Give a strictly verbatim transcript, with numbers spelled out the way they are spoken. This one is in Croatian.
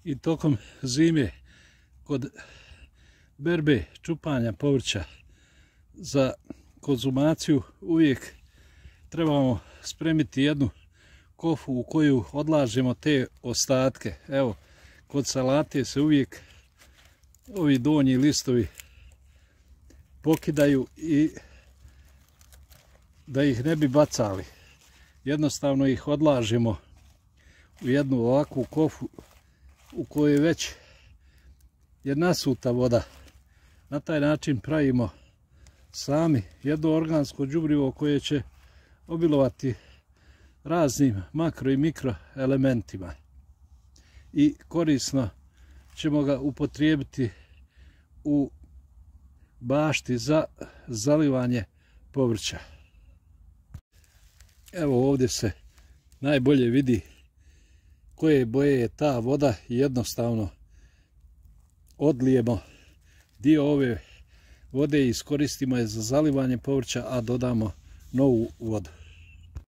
i tokom zime kod berbe čupanja povrća za konzumaciju uvijek trebamo spremiti jednu kofu u koju odlažemo te ostatke. Evo, kod salate se uvijek ovi donji listovi pokidaju i da ih ne bi bacali. Jednostavno ih odlažemo u jednu ovakvu kofu u kojoj već je nasuta voda. Na taj način pravimo sami jedno organsko đubrivo koje će obilovati raznim makro i mikro elementima i korisno ćemo ga upotrijebiti u bašti za zalivanje povrća. Evo ovdje se najbolje vidi koje boje je ta voda i jednostavno odlijemo dio ove vode i iskoristimo je za zalivanje povrća, a dodamo novu vodu.